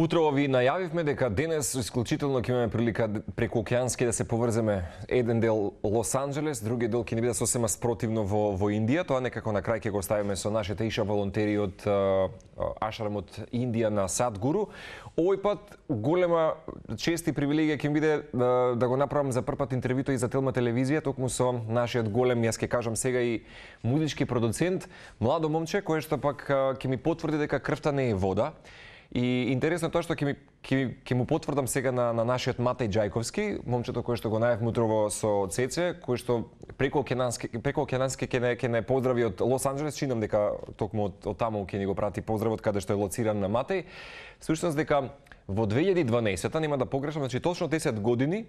Утрово ви најавивме дека денес исклучително ќе имаме прилика преку океански да се поврземе еден дел Лос Анџелес, други дел ќе ни биде сосема спротивно во Индија. Тоа некако на крај ќе го ставиме со нашите иша волонтери од Ашрам од Индија на Садгуру. Овој пат голема чест и привилегија ќе ми биде да го направам за прв пат интервјуто и за Телма телевизија, токму со нашиот голем, јас ќе кажам сега и музички продуцент, младо момче кој што пак ќе ми потврди дека крвта не е вода. И интересно тоа што ќе му потврдам сега на нашиот Матеј Џајковски, момчето кој што го најавме утрово со Цеце, кој што преку океански ќе не поздрави од Лос Анџелес, чинам дека токму од таму ќе ни го прати поздравот каде што е лоциран на Матеј. Всушност дека во 2012-та, нема да погрешам, значи точно 10 години,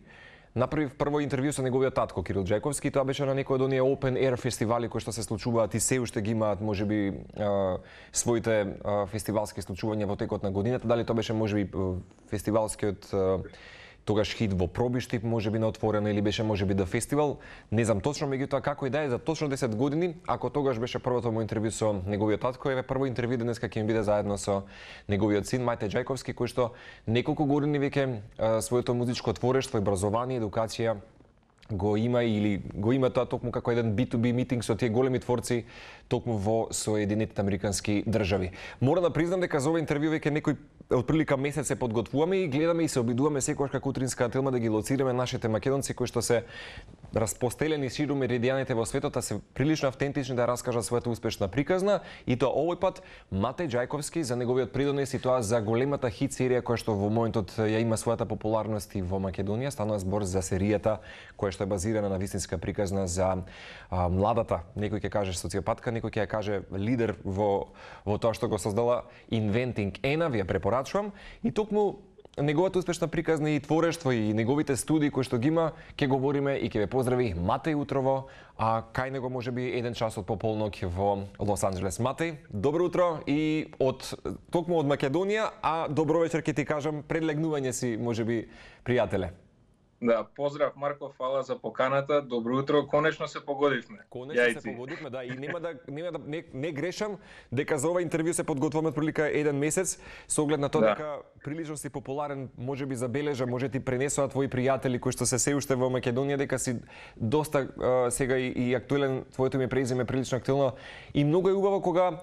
направив прво интервју со неговиот татко Кирил Џајковски. Тоа беше на некој од оние open air фестивали кои што се случуваат и се уште ги имаат можеби своите фестивалски случувања во текот на годината. Дали тоа беше можеби фестивалскиот тогаш хит во Пробишти, можеби на отворено, или беше можеби да фестивал, не знам точно, меѓутоа како и да е, за точно 10 години, ако тогаш беше првото му интервју со неговиот татко, еве прво интервју денеска ќе ми биде заедно со неговиот син Матеј Џајковски, кој што неколку години веќе своето музичко творештво, образование, едукација го има или го има тоа токму како еден B2B митинг со тие големи творци токму во Соединетите Американски држави. Мора да признам дека за ова интервју веќе некој отприлика месец се подготвуваме и гледаме и се обидуваме секогаш како утринска Телма да ги лоцираме нашите македонци кои што се распостелени ширум меридијаните во светот, а се прилично автентични да раскажат својата успешна приказна, и тоа овој пат Матеј Џајковски за неговиот придонес и тоа за големата хит серија која што во моментот ја има својата популарност и во Македонија. Станува збор за серијата која што е базирана на вистинска приказна за младата, некој ќе каже социопатка, некој ќе ја каже лидер во тоа што го создала Inventing Anna, ви ја препорачувам, и токму неговата успешна приказна и творештво и неговите студии кои што ги има, ќе говориме и ќе ве поздрави Матеј утрово, а кај него можеби еден час од пополноќ во Лос Анџелес. Матеј, добро утро и токму од Македонија, а добро вечер ќе ти кажам пред легнување си можеби пријателе. Да, поздрав Марко, фала за поканата. Добро утро, конечно се погодивме. Конечно се погодивме, да, и не грешам дека за ова интервју се подготвуваме отприлика еден месец, со оглед на тоа дека прилично си популарен, можеби забележа, може ти пренесоа твои пријатели кои што се уште во Македонија дека си доста сега и актуелен, твоето име презиме прилично актуелно, и многу е убаво кога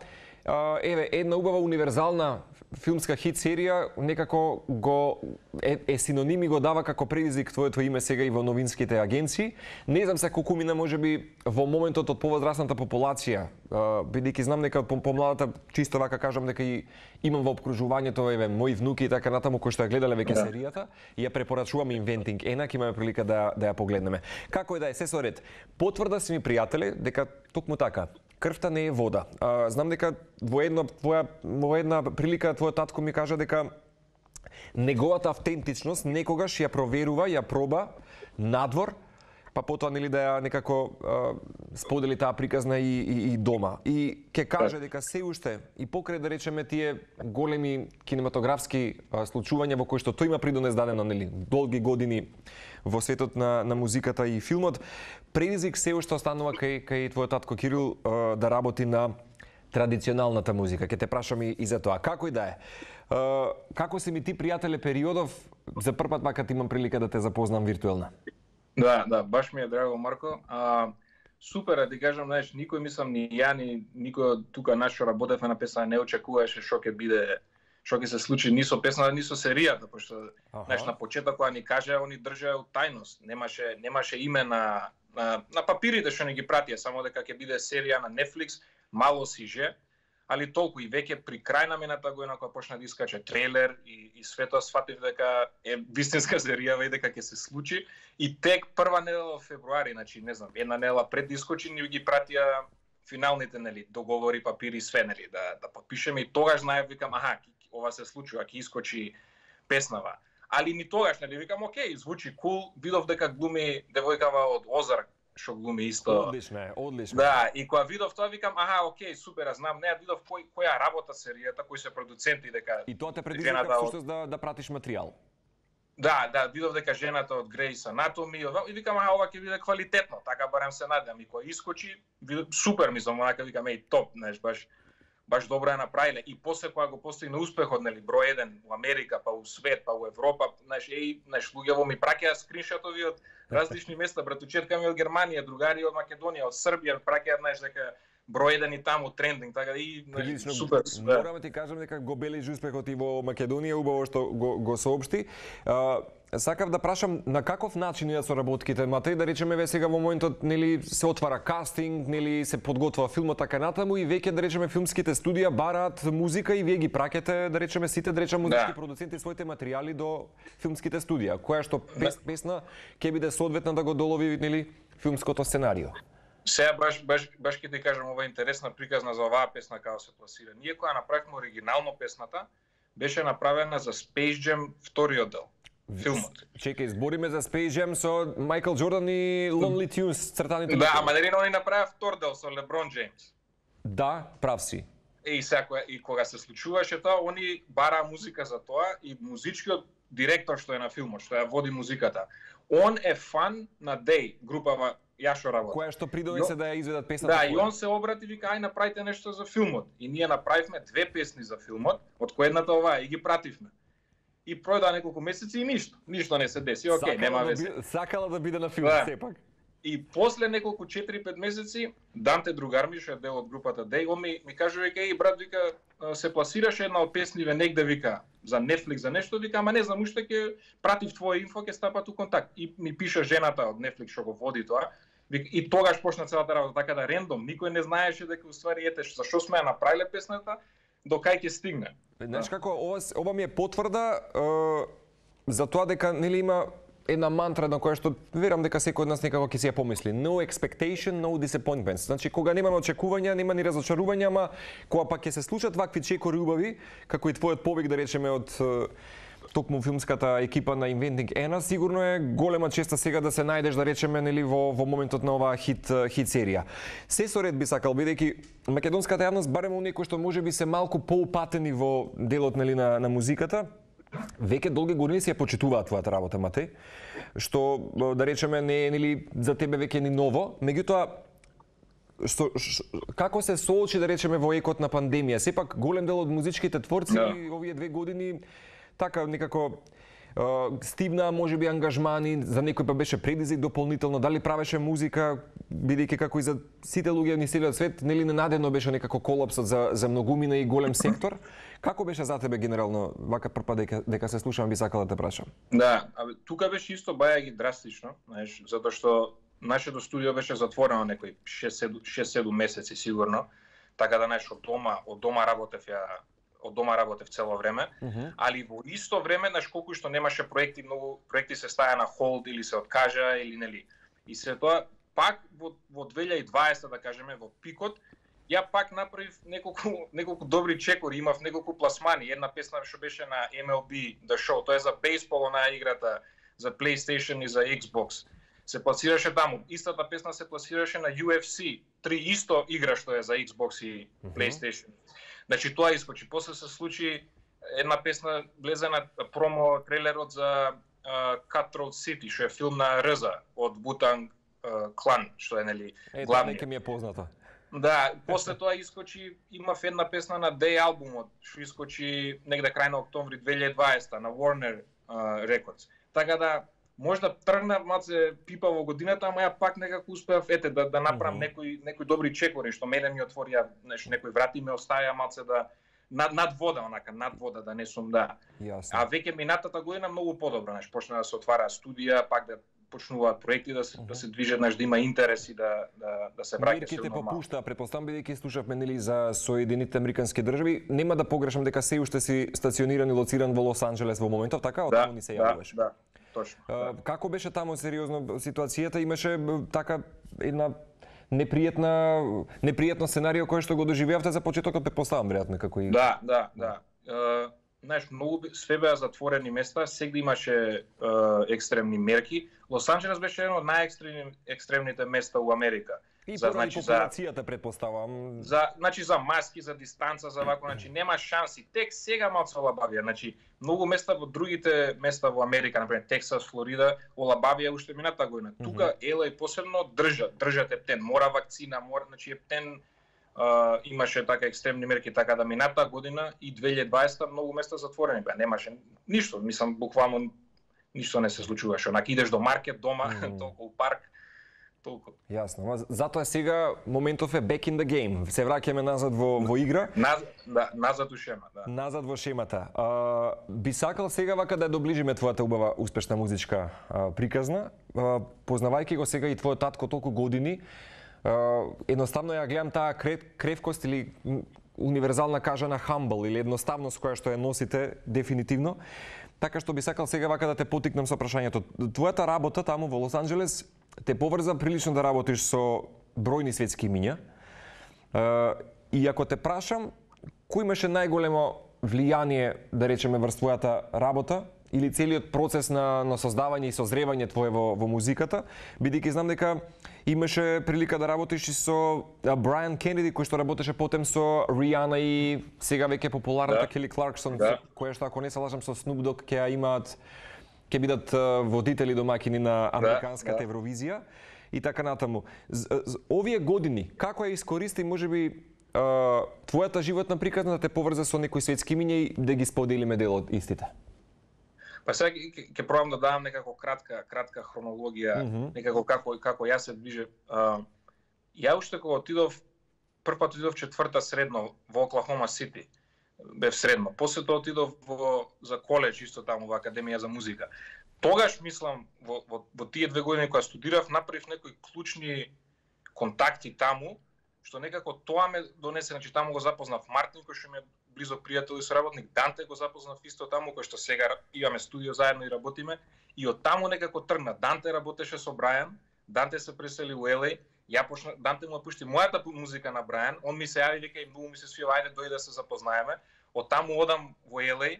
една убава универзална филмска хит серија некако го е синоним и го дава како предизвик твоето име сега и во новинските агенции. Не знам се колку мина можеби во моментот од повозрасната популација, бидејќи знам дека помладата, чисто вака кажам дека и имам во опкружувањето еве мои внуки и така натаму кои што ја гледале веќе серијата, и ја препорачувам Inventing Anna, ќе имаме прилика да ја погледнеме. Како и да е, се со ред. Потврда си ми пријателе дека токму така крвта не е вода. Знам дека во една прилика твојот татко ми кажа дека неговата автентичност некогаш ја проверува, ја проба надвор, па потоа нели да ја некако сподели таа приказна и дома. И ќе каже дека се уште и покрај да речеме тие големи кинематографски случувања во кои што тој има придонес дадено нели долги години во светот на музиката и филмот, предизвик се уште останува кај твојот татко Кирил да работи на традиционалната музика. Ќе те прашам и за тоа. Како и да е. Како си ми ти пријателе периодов, за прв пат макар имам прилика да те запознам виртуелно? Да, баш ми е драго, Марко. Супер, да ти кажам, знаеш, никој мислам ни ја, ни никој тука нашо работевме на песна не очекуваше што ќе биде, што ќе се случи ни со песната, ни со серијата, пошто знаеш, на почеток кога ни кажа, они држаа тајност. Немаше име на папирите што ни ги пратија, само дека ќе биде серија на Netflix, мало сиже, али толку и веќе при крај на мината година кога почна да искача трейлер и свето сфатив дека е вистинска серија и дека ќе се случи, и тек прва недела во февруари, значи не знам, една недела пред да искочи ни ги пратија финалните нели договори, папири, све нели да потпишеме, и тогаш знаев, викам ова се случува, ќе искочи песнава. Али ни тогаш нели викам окей, звучи кул, видов дека глуми девојкава од Озарк што глуми исто. Одлично. Да, и кога видов тоа викам, окей, супер, знам, не видов која работа серијата, кои се продуценти, дека и тоа те предизвика всушност да пратиш материјал. Да, видов дека жената од Grey's Anatomy, и викам, ова ќе биде квалитетно, така барем се надевам, и кога искочи, супер, мислам, онака викам, топ, знаеш, баш баш добро е направиле и после кога го постигна успехот, нели, број 1 во Америка, па во свет, па во Европа, знаеш, луѓе во ми праќаат скриншотови од различни места, братучетка ми од Германија, другари од Македонија, од Србија, праќаат, знаеш, дека број 1 и таму трендинг, така да и прилично, супер. Морам да ти кажам дека го бележи успехот и во Македонија, убаво што го соопшти. Сакав да прашам на каков начин идат соработките, Матеј, да речеме ве сега во моментот, нели, се отвара кастинг, нели, се подготвува филмот така натаму и веќе, да речеме, филмските студија бараат музика и вие ги праќате, да речеме, сите, да речеме, музички продуценти своите материјали до филмските студија, која што песна ќе биде соодветна да го долови, нели, филмското сценарио. Сега баш ќе ти кажам, ова е интересна приказна за оваа песна како се пласира. Ние кога направивме оригинално песната, беше направена за Space Jam вториот дел. Филмот. Чекај, збориме за Space Jam со Майкл Джордан и Lonely Tunes, цртаните. Да, ама нели они направија втор дел со Леброн Джеймс. Да, прав си. И кога се случуваше тоа, они бараа музика за тоа и музичкиот директор што е на филмот, што ја води музиката. Он е фан на Day, групава ја што работи. Која што придонесе да ја изведат песната. Да, и он се обрати и вика, ај направите нешто за филмот. И ние направивме 2 песни за филмот, од која едната оваа и ги пративме. И пројдоа неколку месеци и ништо не се деси. Океј, нема везе. Сакала да биде на филмот сепак. И после неколку 4-5 месеци, Данте другар ми, што е дел од групата Day, он ми кажа, вика, еј брат, вика, се пласираше една од песниве негде, вика, за Netflix, за нешто, вика, ама не знам уште, ќе пратив твое инфо, ќе стапат у контакт. И ми пиша жената од Netflix што го води тоа. И тогаш почна целата работа, така да рендом, никој не знаеше дека уствари ете зашо сме ја направиле песната, до кај ќе стигне. Знаеш како, ова ми е потврда за тоа дека, нели, има една мантра на која што верам дека секој од нас некако ќе си ја помисли. No expectation, no disappointments. Значи, кога немаме очекувања, нема ни разочарувања, ама кога пак ќе се случат вакви чекори убави, како и твојот повик, да речеме, од токму филмската екипа на Inventing Anna, сигурно е голема честа сега да се најдеш, да речеме, нели, во моментот на оваа хит серија. Се со ред би сакал, бидејќи македонската јавност, барем оние кои што можеби се малку поупатени во делот, нели, на музиката, веќе долги години се ја почитуваат твојата работа, Матеј, што, да речеме, не е, нели, за тебе веќе ни ново, меѓутоа, како се соочи, да речеме, во екот на пандемија? Сепак голем дел од музичките творци овие 2 години така некако стивна, можеби, ангажмани, за некој па беше предизвик дополнително, дали правеше музика, бидејќи како и за сите луѓе на целиот свет, нели ненадено беше некако колапсот за многумина и голем сектор. Како беше за тебе генерално, вака прв пат дека се слушам, би сакала да те прашам? Да, тука беше исто бајаги драстично, знаеш, затоа што нашето студио беше затворено некои 6-7 месеци сигурно, така да, знаеш, од дома работев цело време, али во исто време, знаеш, колку што немаше проекти, многу проекти се стаја на холд или се откажа, или нели. И се тоа, пак во 2020, да кажеме, во пикот, ја пак направив неколку добри чекори, имав неколку пласмани, една песна што беше на MLB The Show, тоа е за бейсбол, онаа играта за PlayStation и за Xbox. Се пласираше таму. Истата песна се пласираше на UFC 3 исто игра што е за Xbox и PlayStation. Значи тоа искочи. После се случи една песна влезе на промо трейлерот за Cutthroat City, што е филм на РЗ од Wu-Tang Clan, што е, нели, главниот. Нека ми е познато. Да, после тоа искочи, имав една песна на Day албумот, што искочи негде крај на октомври 2020 на Warner Records. Така да, можда тргна малце пипа во годината, ама ја пак некако успеав да направам некои добри чекори што мене ми отворија, некои врати ме оставија малце да над вода да не сум, да. Јасно. А веќе минатата година многу подобро, почна да се отвара студија, пак да почнуваат проекти да се движат, да има интерес и да се праќа. Мерките попушта, претпоставам, бидејќи слушавме, нели, за Соединетите Американски држави, нема да погрешам дека се уште си стациониран и лоциран во Лос Анџелес во моментот, така? Од таму ни се јавуваш. Да. Точно. Како беше таму сериозно ситуацијата? Имаше така една непријатно сценарио кое што го доживеавте за почетокот, претпоставам, веројатно, како и... Да. Знаеш, многу све беа затворени места, сегде имаше екстремни мерки. Лос Анџелес беше едно од најекстремните места у Америка. И поради популацијата, претпоставам. За маски, за дистанца, за вако, нема шанси. Тек сега малце олабавија, многу места во другите места во Америка, например Тексас, Флорида, олабавија уште мината година. Тука ела и посебно држат ептен, мора вакцина, ептен имаше така екстремни мерки, така да минатата година и 2020 многу места затворени беа, немаше ништо, мислам буквално ништо не се случуваше. Онака идеш до маркет дома, толку парк, толку. Јасно, ама затоа сега моментов е back in the game. Се враќаме назад во игра. Назад у шема, да. Назад во шемата. Би сакал сега вака да доближиме твојата убава успешна музичка приказна, познавајќи го сега и твојот татко толку години. Едноставно ја гледам таа кревкост или универзална кажана humble или едноставност која што ја носите дефинитивно. Така што би сакал сега вака да те потикнам со прашањето. Твојата работа таму во Лос Анџелес те поврза прилично да работиш со бројни светски имиња. И ако те прашам, кој имаше најголемо влијание, да речеме, врз твојата работа или целиот процес на создавање и созревање твое во музиката, бидејќи знам дека имаше прилика да работиш и со Брайан Кенеди, кој што работеше потем со Ријана и сега веќе популарната Кели Кларксон, која што, ако не се лажам, со Snoop Dogg ќе бидат водители домаќини на американската Евровизија и така натаму. Овие години, како ја искористи можеби твојата животна приказна да те поврзе со некои светски имиња и да ги споделиме дел од истите? Па сега ќе пробам да дадам некако кратка хронологија, некако како јас се движев. Ја уште кога отидов, првпат отидов четврта средно во Оклахома Сити. Бев средно. После тоа отидов за коледж исто таму во Академија за музика. Тогаш мислам во тие 2 години кога студирав, направив некои клучни контакти таму, што некако тоа ме донесе, значи таму го запознав Мартин, кој што ми е близо пријател и соработник, Данте го запознав исто таму, кој што сега имаме студио заедно и работиме, и од таму некако тргна. Данте работеше со Брајан, Данте се пресели у LA, Данте му пушти мојата музика на Брајан, он ми се јави, вика, и многу ми се свија, ајде дојди да се запознаеме. Од таму одам во LA,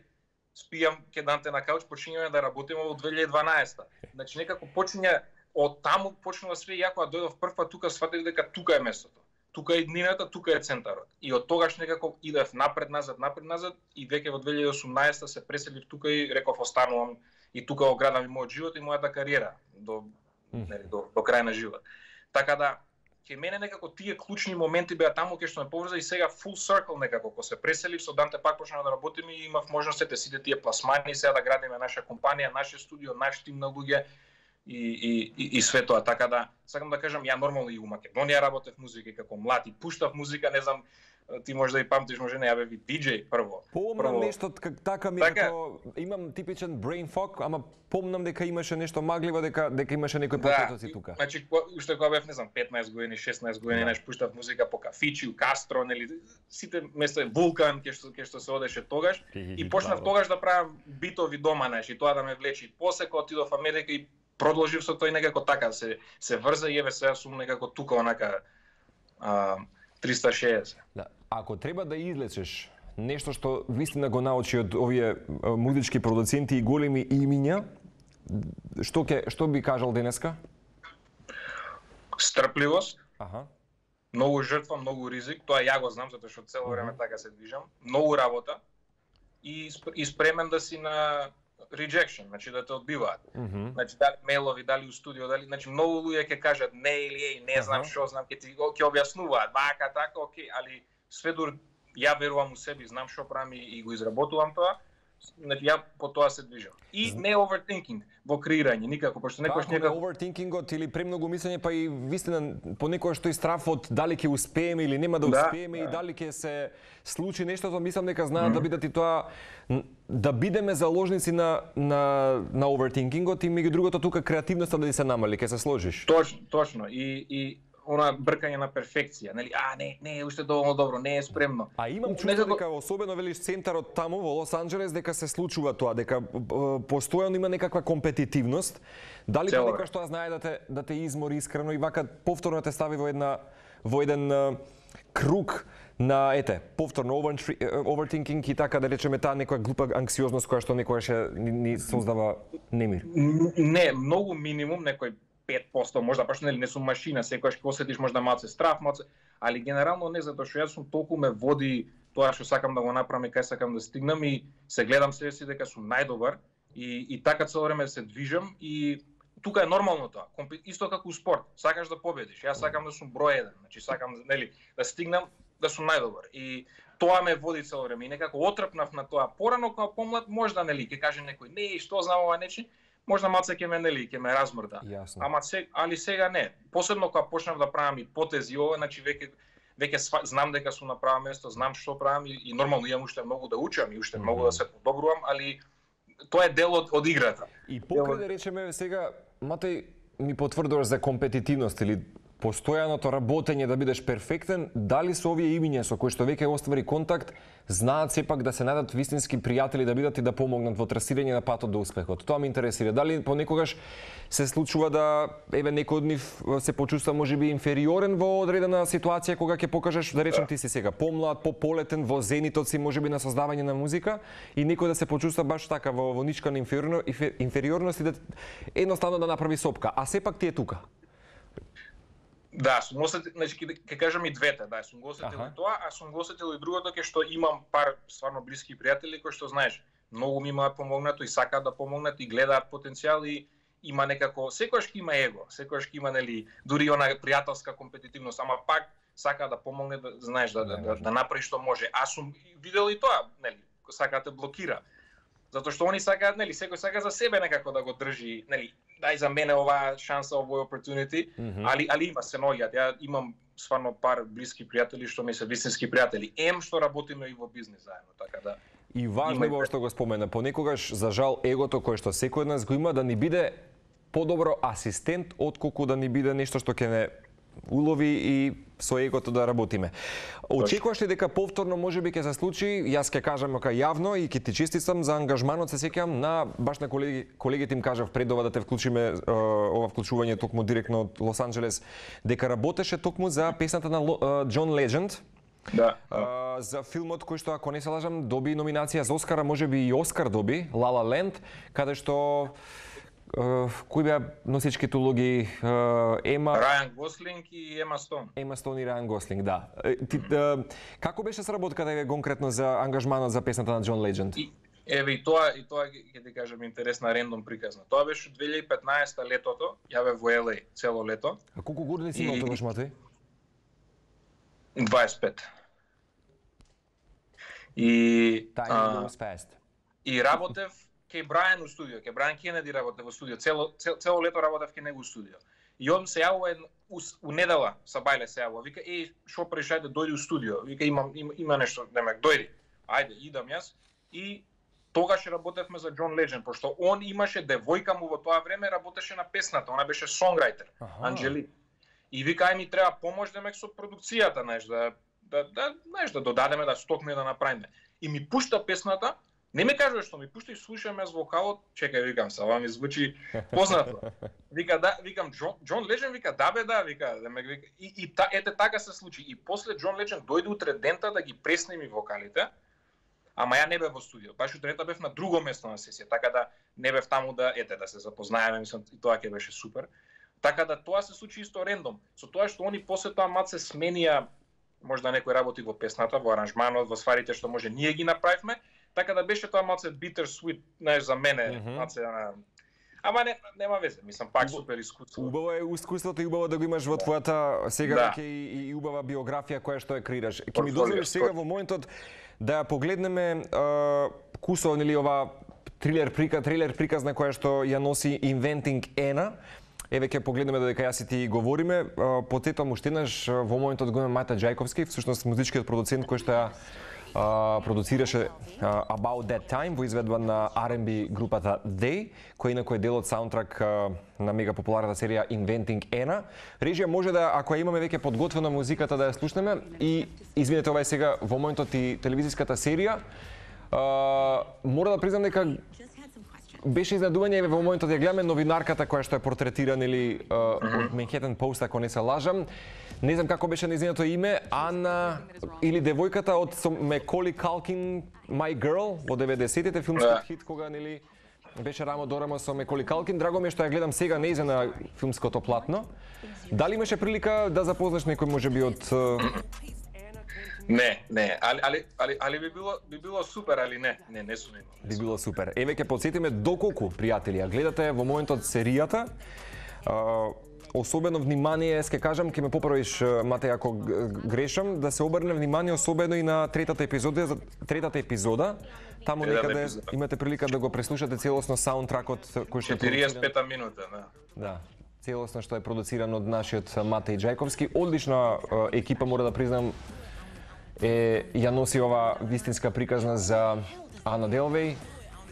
спијам ке Данте на кауч, почињаме да работиме во 2012. Значи некако почиња од таму почнува све, ја кога дојдов прв пат тука, сватив дека тука е местото. Тука е иднината, тука е центарот. И од тогаш некако идев напред назад и веќе во 2018 се преселив тука и реков останувам и тука го градам и мојот живот и мојата кариера до крај на живот. Така да ќе мене некако тие клучни моменти беа таму кај што ме поврза и сега full circle некако кога се преселив со Данте пак почнав да работиме и имав можност сите тие пласмани сега да градиме наша компанија, наше студио, наш тим на луѓе. И све тоа, така да сакам да кажам, ја нормално и у Македонија работев музика како млад и пуштав музика, не знам, ти може да и памтиш, може не, ја бев и диџеј прво. Помнам нешто така ми како имам типичен brain fog, ама помнам дека имаше нешто магливо, дека имаше некој потоци тука. Значи уште кога бев, не знам, 15 години, 16 години, неш пуштав музика по кафичи, у Кастро, нели, сите места, Вулкан, кај што се одеше тогаш и почнав тогаш да правам битови дома, неш, и тоа да ме влече. После кога отидов во Америка и продолжив со тој некако така, се врза и еве сега сум некако тука онака 360. Да. Ако треба да излечеш нешто што вистина го научи од овие музички продуценти и големи имиња, што би кажал денеска? Стрпливост. Многу жртва, многу ризик, тоа ја го знам затоа што цело време така се движам. Многу работа и спремен да си на rejection, значи да те одбиваат. Значи дали мейлови, дали у студио, дали, значи многу луѓе ќе кажат не или не знам што знам, ќе објаснуваат, вака така, окей, али све дур ја верувам у себе, знам што правам и го изработувам тоа. Значи ја по тоа се движам. И не overthinking во креирање никако, пошто некојаш некако overthinkingот или премногу мислење, па и вистина понекогаш тој страф од дали ќе успееме или нема да успееме и дали ќе се случи нештото, мислам дека знаат да бидат и тоа да бидеме заложници на overthinkingот и меѓу другото тука креативноста да се намали, ќе се сложиш. Точно. И она бркање на перфекција, нели? Не е уште доволно добро, не е спремно. А имам чувство дека особено велиш центарот таму во Лос Анџелес дека се случува тоа, дека постојано има некаква компетитивност. Дали понекогаш тоа знае да те измори искрено и вака повторно те стави во еден круг на повторно overthinking и така да речеме таа некоја глупа анксиозност која што некогаш ни создава немир. Не, многу минимум, некој 5%, можда пашто нели не сум машина, секогаш ќе осетиш можда малце страф, али генерално не, затоа што јас сум толку ме води тоа што сакам да го направам и кај сакам да стигнам и се гледам себе си дека сум најдобар и така цело време се движам и тука е нормално тоа. Исто како у спорт, сакаш да победиш. Јас сакам да сум број 1, значи сакам нели да стигнам најдобар. И тоа ме води цело време. И некако отрпнав на тоа. Порано кога помлад можда нели ќе каже некој, не, што знам ова нечи, можда малце ќе ме нели ќе ме размрда. Јасно. Али сега не. Посебно кога почнав да правам и потези ова, значи веќе знам дека сум на право место, знам што правам и нормално имам уште многу да учам и уште многу да се подобрувам, али тоа е дел од играта. И покрај да речеме сега, Матеј, ми потврдуваш за компетитивност или постојаното работење да бидеш перфектен, дали со овие имиња со кои што веќе оствари контакт, знаат сепак да се најдат вистински пријатели да бидат и да помогнат во трасирање на патот до успехот? Тоа ме интересира. Дали понекогаш се случува да некој од нив се почувства можеби инфериорен во одредена ситуација кога ќе покажеш, да речем ти си сега помлад, пополетен во зенитот си можеби на создавање на музика и некој да се почувства баш така во ничка на инфериорност и да едноставно да направи сопка, а сепак ти е тука? Да, сум осетил, значи ќе кажам и двете, да, сум го осетил и тоа, а сум го осетил и другото ке што имам пар стварно блиски пријатели кои што знаеш, многу ми имаат помогнато и сакаат да помогнат и гледаат потенцијал и има некако секогаш ќе има его, секогаш ќе има нели дури она пријателска компетитивност, ама пак сака да помогне да знаеш да направи што може. Аз сум видел и тоа, нели, сака да те блокира. Затоа што они сакаат, нели, секој сака за себе некако да го држи, нели, дај за мене оваа шанса, овој opportunity, али има се наоѓаат. Ја имам стварно пар блиски пријатели што ми се вистински пријатели. Што работиме и во бизнис заедно, така да. И важно е што го спомена, понекогаш за жал егото кое што секој од нас го има да ни биде подобро асистент отколку да ни биде нешто што ќе не улови и со егото да работиме. Очекуваш ли дека повторно можеби ќе се случи? Јас ќе кажам јавно и ќе ти честитам за ангажманот, се сеќавам на баш на колегите им кажав пред ова да те вклучиме ова вклучување токму директно од Лос Анџелес дека работеше токму за песната на Џон Леџенд. Да. За филмот кој што, ако не се лажам, доби номинација за Оскара, можеби и Оскар доби, La La Land, каде што кои беа носичките улоги? Рајан Гослинг и Ема Стоун. Ема Стоун и Рајан Гослинг, да. Како беше сработката конкретно за ангажманот за песната на Џон Леџенд? И тоа ќе ти кажам интересна рендом приказна. Тоа беше 2015 летото, ја бев во LA цело лето. А колку години си имал тогаш, Матеј? 25. Time goes fast. И работев кај Брајан у студио, кај Брајан Кенеди работев во студио, цело лето работев кај него у студио. И он се јавува у недела, Сабајле се јавува, вика, шо правиш, ајде дојди у студио, вика има нешто, немек, дојди, ајде, идам јас. И тогаш работевме за Џон Леџенд, пошто он имаше девојка му во тоа време, работеше на песната, она беше сонграјтер, Анџели. И вика, ај ми треба помош демек со продукцијата, знаеш, да додадеме, да стокме, да направиме. И ми пушта песната. Не ме кажува што ми пушта и слушам јас вокалот, чекај, викам, ова ми звучи познато. Викам Џон Леџенд, вика, да, вика, и ете така се случи. И после Џон Леџенд дојде утре дента да ги преснеми вокалите, ама ја не бев во студио. Баш утре дента бев на друго место на сесија, така да не бев таму да се запознаеме, мислам, и тоа ќе беше супер. Така да тоа се случи исто рендом. Со тоа што они после тоа мат се сменија, можда некој работи во песната, во аранжманот, во стварите што може ние ги направивме. Така да беше тоа малце bitter sweet, знаеш, за мене, малце, ама нема везе, мислам, пак супер искуство. Убаво е искуството и убаво да го имаш во твојата сега веќе и убава биографија која што ја креираш. Ќе ми дозволиш сега во моментот да погледнеме кусо, нели, ова трилер приказна која што ја носи Inventing Anna. Еве ќе погледнеме додека јас и ти говориме. Потетам уште еднаш во моментот го имаме Мајта Џајковски, всушност музичкиот продуцент кој што ја продуцираше About That Time во изведба на R&B групата They, која инаку е дел од саундтрак на мега популарната серија Inventing Anna. Режија може да, ако ја имаме веќе подготвена музиката, да ја слушнеме и извинете, ова е сега во моментот и телевизиската серија. Мора да признам дека беше изненадување во моментот ја гледаме новинарката која што е портретирана или од Manhattan Post, ако не се лажам. Не знам како беше нејзиното име, Ана или девојката од Меколи Калкин, My Girl, во 90-тите, филмскиот хит кога нели беше рамо до рамо со Меколи Калкин. Драго ми е што ја гледам сега нејза на филмското платно. Дали имаше прилика да запознаш некој можеби од Не, али би било супер, али не сум имал. Би било супер. Еве ќе потсетиме доколку пријатели ја гледате во моментот серијата. особено внимание, ќе кажам, ќе ме поправиш, Матеј, ако грешам, да се обрне внимание особено и на третата епизода, таму некаде имате прилика да го преслушате целосно саундтракот кој што 45 минута, да. Да, целосно што е продуциран од нашиот Матеј Џајковски. Одлична екипа, мора да признам, ја носи ова вистинска приказна за Ана Делвеј,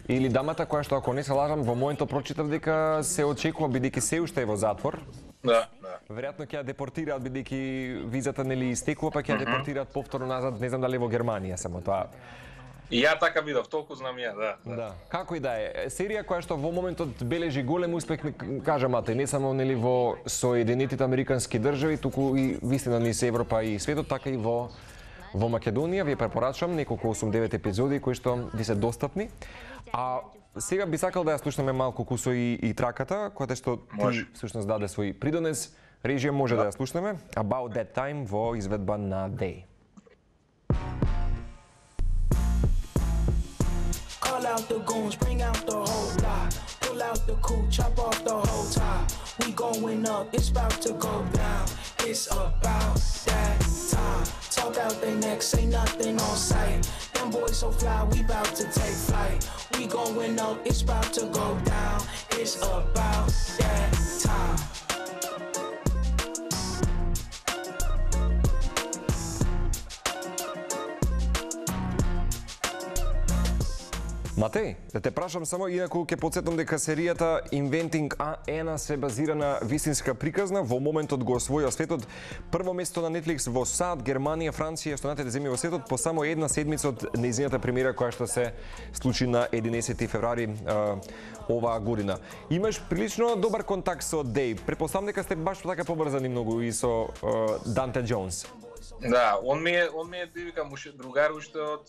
или дамата која што, ако не се лажам, во моментот прочитав дека се очекува, бидејќи се уште е во затвор. Да. Веројатно ќе ја депортираат, бидејќи визата нели истекува, па ќе ја депортираат повторно назад, не знам дали во Германија само тоа. И ја така видов, толку знам ја, Да. Како и да е, серија која што во моментот бележи голем успех, кажа Матеј, не само нели во Соединетите Американски држави, туку и вистина низ Европа и светот, така и во Македонија. Ви препорачувам неколку 8-9 епизоди кои што ви се достапни. А сега би сакал да ја слушнеме малку Кусо и траката, која што ти всушност даде свој придонес. Режија може да ја слушнеме. About That Time во изведба на Day. Call out the goons, bring out the whole lot. Pull out the coupe, chop off the whole top. We going up, it's about to go down. It's about that time. Talk out their neck, say nothing on sight. Them boys so fly, we about to take flight. We going up, it's about to go down. It's about that time. Матеј, да те прашам само, инаку ќе потсетам дека серијата Inventing Anna се базира на вистинска приказна, во моментот го освојува светот. Прво место на Netflix во САД, Германија, Франција и останатите земји во светот по само една седмица од нејзината премиера која што се случи на 11 февруари оваа година. Имаш прилично добар контакт со Дейв. Претпоставам дека сте баш така поврзани многу и со Данте Џонс. Да, он ми е дивика другар уште од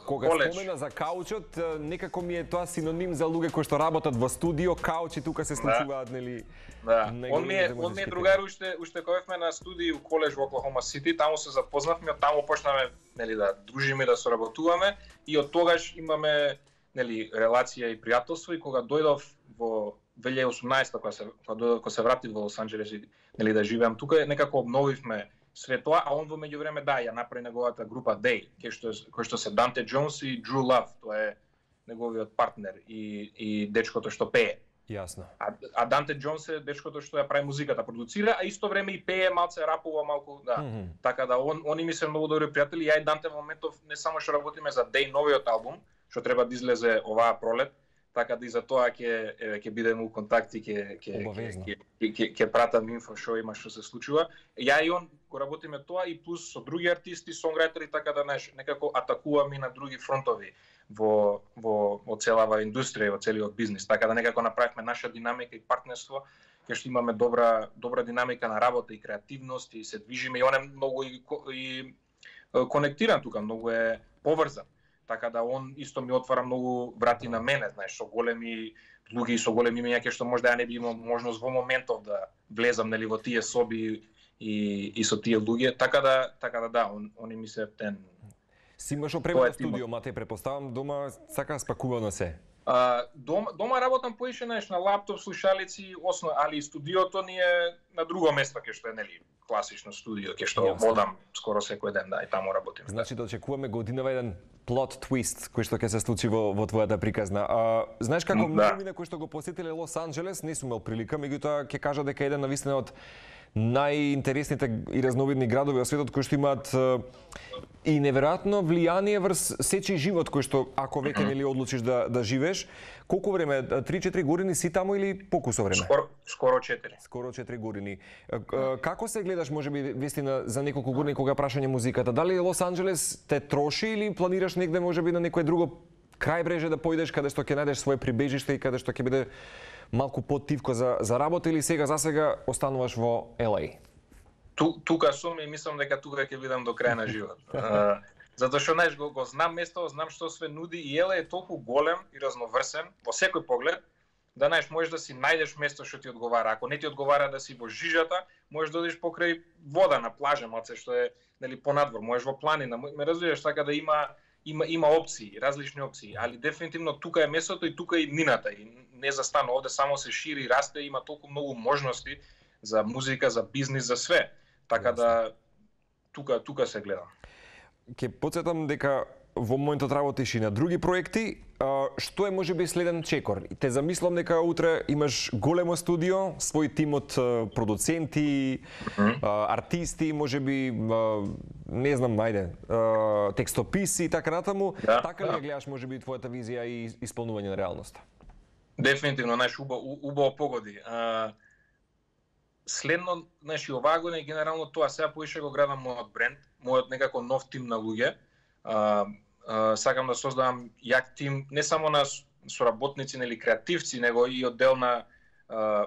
кога коледж. Спомена за каучот, некако ми е тоа синоним за луѓе кои што работат во студио, каучи тука се случуваат, нели? Да. Он ми е другар уште кога бевме на студии у коледж во Оклахома Сити, таму се запознавме, од таму почнавме нели да дружиме, да соработуваме и од тогаш имаме нели релација и пријателство и кога дојдов во 2018 кога се вратив во Лос Анџелес и нели да живеам тука, некако обновивме све тоа, а он во меѓувреме ја направи неговата група Day, кој што се Данте Џонс и Дрю Лав, тоа е неговиот партнер и дечкото што пее. Јасно. А Данте Џонс е дечкото што ја прави музиката, продуцира, а исто време и пее, малце рапува малку, да. Така да они ми се многу добри пријатели, ја и Данте во моментов не само што работиме за Day новиот албум, што треба да излезе оваа пролет, така да и за тоа ќе бидеме у контакти, ќе пратам инфо што има, што се случува. Ја и он го работиме тоа и плюс со други артисти, сонграјтери, така да некако атакуваме на други фронтови во целава индустрија, во целиот бизнис. Така да некако направивме наша динамика и партнерство, кај што имаме добра динамика на работа и креативност и се движиме и он е многу и конектиран тука, многу е поврзан. Така да он исто ми отвара многу врати на мене, знаеш, со големи луѓе и со големи имења кај што можда ја не би имал можност во моментов да влезам нели во тие соби и со тие луѓе, така да, они ми се птен. Си имаш опремено студио, Матеј, препоставам, дома сака спакувано се. Дома работам поише на лаптоп, слушалици, али студиото ни е на друго место кај што е нели класично студио, кај што одам скоро секој ден, да, и таму работим. Значи да очекуваме годинава еден плот твист кој што ќе се случи во твојата приказна. Знаеш како многу кои што го посетиле Лос Анџелес, не сум имал прилика, меѓутоа ќе кажа дека еден навистина од најинтересните и разновидни градови во светот кои што имаат и неверојатно влијание врз сечи живот кој што ако веќе нели одлучиш да живееш. Колку време? 3-4 години си таму или покусо време? Скоро 4. Скоро 4 години. Како се гледаш можеби вистина за неколку години кога прашање музиката? Дали Лос Анџелес те троши или планираш негде можеби на некое друго крајбреже да поидеш каде што ќе најдеш свое прибежиште и каде што ќе биде малку потивко за работа или сега остануваш во LA? Тука сум и мислам дека тука ќе бидам до крај на живот. Затоа што знаеш го знам место, знам што све нуди и LA е толку голем и разноврсен во секој поглед, да знаеш можеш да си најдеш место што ти одговара. Ако не ти одговара да си во жижата, можеш да одиш покрај вода на плажа, малце што е нели понадвор, можеш во планина. Ме разбираш, така да има опции, различни опции, али дефинитивно тука е местото и тука е иднината и не застанува, овде само се шири, расте, има толку многу можности за музика, за бизнис, за све. Така да тука се гледа. Ќе потсетам дека во моментот работиш и на други проекти. Што е можеби следен чекор? Те замислам дека утре имаш големо студио, свој тим од продуценти, артисти, можеби не знам, ајде, текстописи и така натаму. Така ли ја гледаш можеби твојата визија и исполнување на реалноста? Дефинитивно, знаеш, убаво погоди. Следно, знаеш, и оваа година генерално тоа сега поише го градам мојот бренд, мојот некако нов тим на луѓе. Сакам да создадам јак тим не само на соработници или креативци, него и од дел на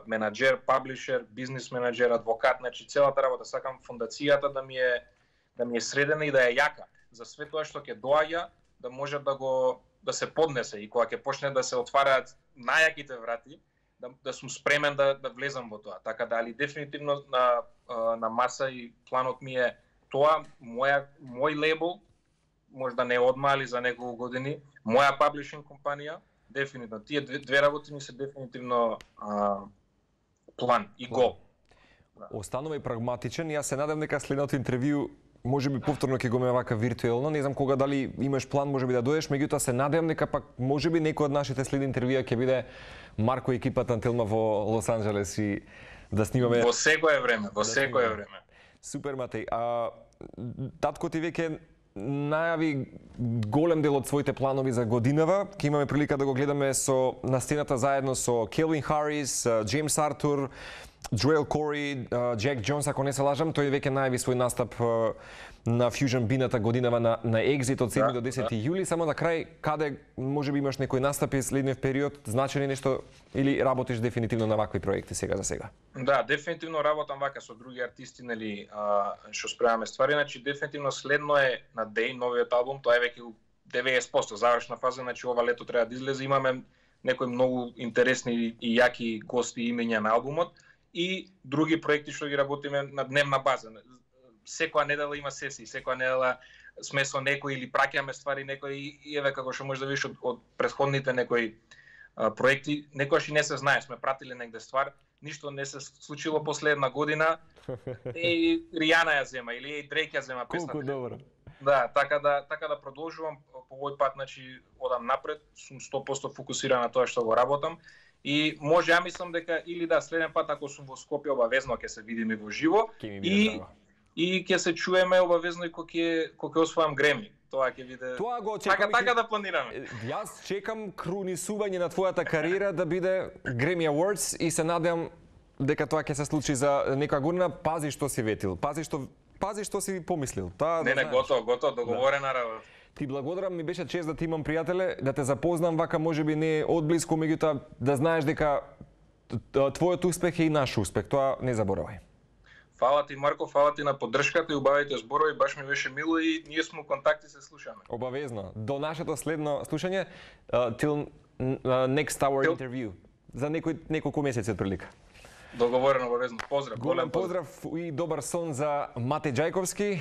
менаџер, паблишер, бизнис менаџер, адвокат, значи целата работа. Сакам фондацијата да ми е средена и да е јака за све тоа што ќе доаѓа, да може да се поднесе и кога ќе почне да се отвараат најаките врати, да сум спремен да влезам во тоа. Така да, али дефинитивно на маса и планот ми е тоа, мој лейбл, може да не одма, али за неколку години, моја паблишинг компанија, дефинитивно. Тие две работи ми се дефинитивно план и гол. Останува и прагматичен. Јас се надам дека следното интервју можеби повторно ќе го имаме вака виртуелно. Не знам кога дали имаш план можеби да дојдеш, меѓутоа се надевам дека пак можеби некој од нашите следни интервјуа ќе биде Марко и екипата на Телма во Лос Анџелес и да снимаме. Во секое време, во секое време. Супер, Матеј. Татко ти веќе најави голем дел од своите планови за годинава. Ќе имаме прилика да го гледаме на сцената заедно со Келвин Харис, Джеймс Артур, Джоел Кори, Джек Джонс, ако не се лажам. Тој веќе најави свој настап на Fusion бината годинава на Exit од 7 до 10 јули. Само на крај, каде можеби имаш некој настапи следниот период, значени нешто или работиш дефинитивно на вакви проекти сега за сега? Да, дефинитивно работам вака со други артисти, нели, што спремаме ствари, значи дефинитивно следно е на Day, новиот албум, тоа е веќе 90% завршна фаза, значи ова лето треба да излезе, имаме некои многу интересни и јаки гости и имења на албумот и други проекти што ги работиме на дневна база. Секоја недела има сесии, секоја недела сме со некој или праќаме ствари некој и еве како што можеш да видиш од претходните некои проекти, некојаш и не се знае, сме пратиле негде ствар, ништо не се случило последна година. И Ријана ја зема или Дрейк ја зема песната. Колку добро. Да, така да продолжувам по овој пат, значи одам напред, сум 100% фокусиран на тоа што го работам. И може, ја мислам дека или да следен пат ако сум во Скопје обавезно ќе се видиме во живо и ќе се чуеме обавезно и кога ќе освојам Греми. Тоа ќе биде. Тоа го чекам. Така да планираме. Јас чекам крунисување на твојата кариера да биде Grammy Awards и се надевам дека тоа ќе се случи за некоја година. Пази што си ветил. Пази што си помислил. Не, готово, договорена работа. Ти благодарам, ми беше чест да ти имам, пријателе, да те запознам вака, можеби не одблиску, меѓутоа да знаеш дека твојот успех е и наш успех. Тоа не заборавај. Фала ти, Марко, фала ти на поддршката и убавите зборови, баш ми беше мило и ние сме контакти, се слушаме. Обавезно. До нашето следно слушање, till next hour interview. За неколку месеци отприлика. Договорено, обавезно. Поздрав. Голем поздрав и добар сон за Матеј Ѓајковски.